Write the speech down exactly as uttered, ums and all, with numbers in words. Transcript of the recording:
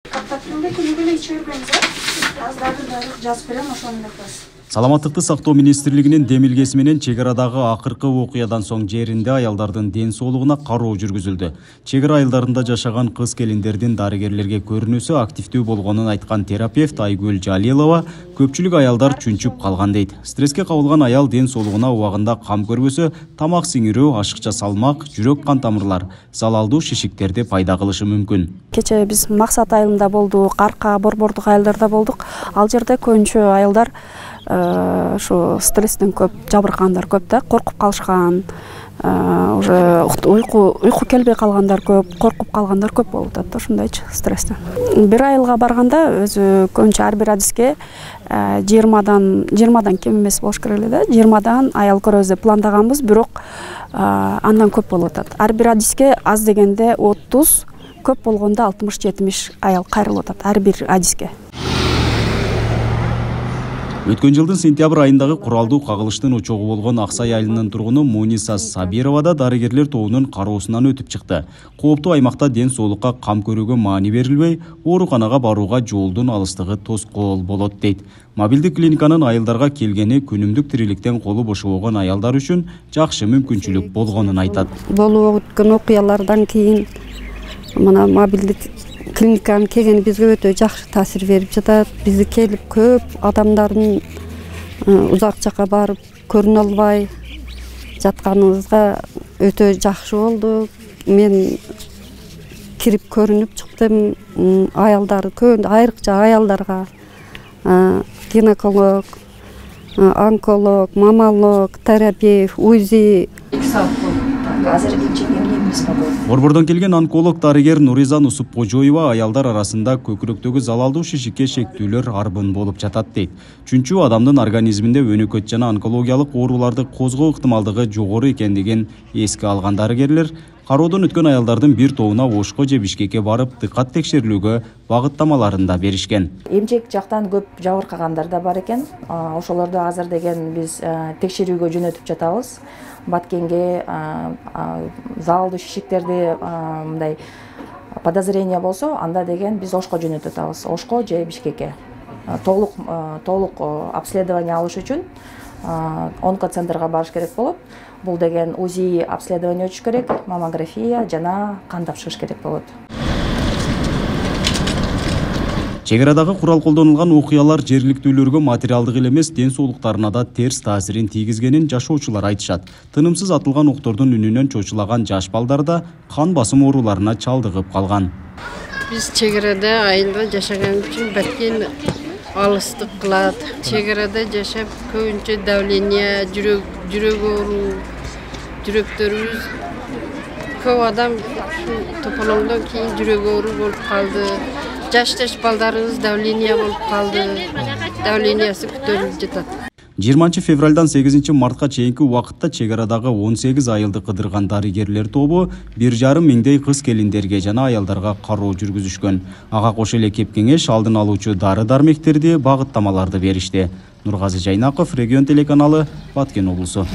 Каптатымда күнүгө эле ичип бербейбиз, э? Азыр дагы жазып берем, ошону эле кылабыз. Саламаттыкты сактоо министрлигинин демилгеси менен чек арадагы акыркы окуядан соң жеринде аялдардын ден соолугуна кароо жүргүзүлдү. Чек ара айылдарында жашаган кыз келиндердин дарыгерлерге көрүнүүсү активдүү болгонун айткан терапевт Айгүл Жалилова көпчүлүк аялдар чүнчүп калган дейт. Стресске кабылган аял ден соолугуна убагында кам көрбөсө, тамак сиңирүү, ашыкча салмак, жүрөк кан тамырлар, залалдуу шишиктерди пайда кылышы мүмкүн. Кече биз Максат айылында болдук, Арка, Борбордук айылдарда болдук. Ал жерде көбүнчө аялдар ошо стресстен көп жабыркагандар көп да, коркуп калышкан, уже уйку уйку келбей калгандар көп, коркуп калгандар көп болуп атат, ошондойчу стресстен. Бир айылга барганда өзү көбүнчө ар бир адиске жыйырмадан жыйырмадан кем эмес болуш керек эле да, жыйырмадан аял көрөбүз деп пландаганбыз, бирок андан көп болуп атат. Ар бир адиске аз дегенде отуз, көп болгондо алтымыш жетимиш аял кайрылып атат ар бир адиске. Өткөн жылдын сентябрь айындагы куралдуу кагылыштын очогу болгон Аксай айылынын тургуну Муниса Сабирова да дарыгерлер тобунун кароосунан өтүп чыкты. Кооптуу аймакта ден соолукка кам көрүүгө маани берилбей, ооруканага барууга жолдун алыстыгы тоскоол болот дейт. Мобилдик клиниканын айылдарга келгени күнүмдүк тириликтен колу бошобогон аялдар үчүн жакшы мүмкүнчүлүк болгонун айтат. Болуп өткөн окуялардан кийин мына мобилдик клиниканын келгени бизге өтө жакшы таасир берип жатат. Бизге келип көп адамдардын узак жакка барып көрүнө албай жатканыбызга өтө жакшы болду. Мен кирип көрүнүп чыктым. Аялдар көп, айрыкча аялдарга гинеколог, онколог, маммолог, терапевт, УЗИ. Борбордон келген онколог дарыгер Нуриза Нусупкожоева аялдар арасында көкүрөктөгү залалдуу шишикке шектүүлөр арбын болуп жатат дейт. Чүнчү адамдын организминде өнөкөт жана онкологиялык ооруларды козгоо ыктымалдыгы жогору экендигин эске алган дарыгерлер кароодон өткөн аялдардын бир тобуна Ошко же Бишкекке барып дыккат текшерилүүгө багыттамаларын да беришкен. Эмчек жактан көп жабыркагандар да бар экен. Ошолорду азыр деген биз текшерүүгө жөнөтүп жатабыз. Баткенге залалдуу шишиктерди мындай подозрение болсо, анда деген биз Ошко жөнөтүп атабыз. Ошко же Бишкекке. Толук толук обследование алыш үчүн онкоцентрге барыш керек болот. Бул деген УЗИ обследование өтүш керек, маммография жана кан тапшырыш керек болот. Чек арадагы курал колдонулган окуялар жергиликтүүлөргө материалдык эле эмес, ден соолуктарына да терс таасирин тийгизгенин жашоочулар айтышат. Тынымсыз атылган октордун үнүнөн чочулаган жаш балдар да кан басым ооруларына чалдыгып калган. Биз чек арада айылда жашаган үчүн Баткен алыстык кылат. Чек арада жашап көбүнчө давление, жүрөк жүрөк оору, жүрөктөрүбүз көп адам тополоңдон кийин жүрөк оору болуп калды. Жаш-жаш балдарыбыз давление болуп калды. Давлениясы көтөрүлүп жатат. жыйырманчы февралдан сегизинчи мартка чейинки убакытта чек арадагы он сегиз айылды кыдырган дарыгерлер тобу бир жарым миңдей кыз келиндерге жана аялдарга кароо жүргүзүшкөн. Ага кошо эле кеп кеңеш алдын алуучу дары-дармектерди, багыттамаларды беришти. Нургазы Жайнаков, Регион телеканалы, Баткен облусу.